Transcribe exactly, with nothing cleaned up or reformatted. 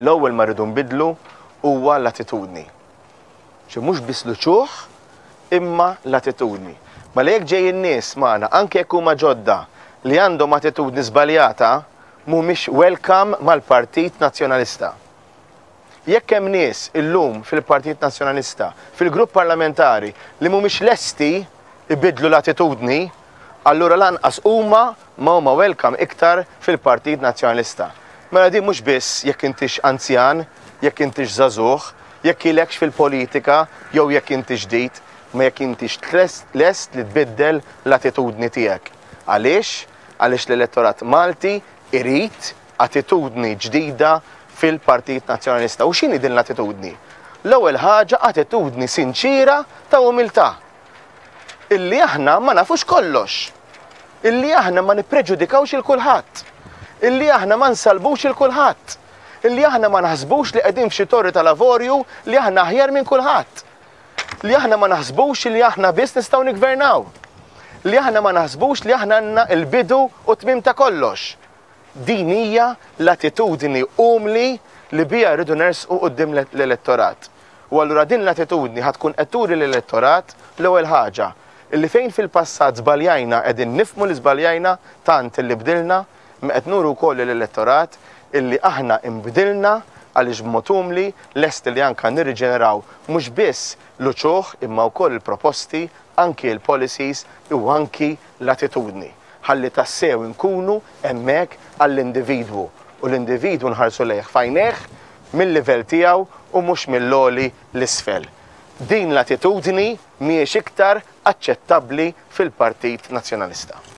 L-ewwel ma rridu nbiddlu huwa l-attitudni. Ċe mhux biss l-uċuħ, imma l-attitudni. Mela jekk ġejjin nies magħna, anke jekk huma ġodda, li għandhom attitudni żbaljata, mhumiex welcome mal-Partit Nazzjonalista. Jekk hemm nies illum fil-Partit Nazzjonalista, fil-grupp parlamentari, li mhumiex lesti ibiddlu l-attitudni, allura lanqas huma ma huma welcome iktar fil-Partit Nazzjonalista. Mela din mhux biss jekk intix anzjan, jekk intix żagħżugħ, jekk ilekx fil-politika jew jekk inti ġdid, ma jekk intix lest li tbiddel l-attitudni tiegħek. Għaliex? Għaliex l-elettorat Malti irid attitudni ġdida fil-Partit Nazzjonalista. U x'inhi din l-attitudni? L-ewwel ħaġa, attitudni sinċira ta' umiltà. Illi aħna ma nafux kollox. Illi aħna ma nippreġudikawx il kulħadd. Illi aħna ma nsalbux il kulħadd. Illi aħna ma naħsbux li qegħdin f'xi torri tal-avorju li aħna aħjar minn kulħadd. Li aħna ma naħsbux li aħna biss nistgħu niggvernaw. Li aħna ma naħsbux li aħna għandna l-bidu u tmiem ta' kollox. Din hija l-attitudni umli li bija rridu nersqu quddiem l-elettorat. U allura din l-attitudni ħa tkun qed turi l-elettorat l-ewwel ħaġa illi fejn fil-passat żbaljajna qegħdin nifhmu li żbaljajna tant illi bdilna, ma qed nuru wkoll l-elettorat illi aħna imbdilna għaliex b'mod umli lest li anka nirriġeneraw mhux biss l-uċuħ imma wkoll il-proposti, anki l-policies u anki l-attitudni. Ħalli tassew inkunu hemmhekk għall-individwu u l-individwu nħarsu lejh f'għajnejh mill-livell tiegħu u mhux mill-għoli l-isfel. Din l-attitudni mhijiex iktar aċċettabbli fil-Partit Nazzjonalista.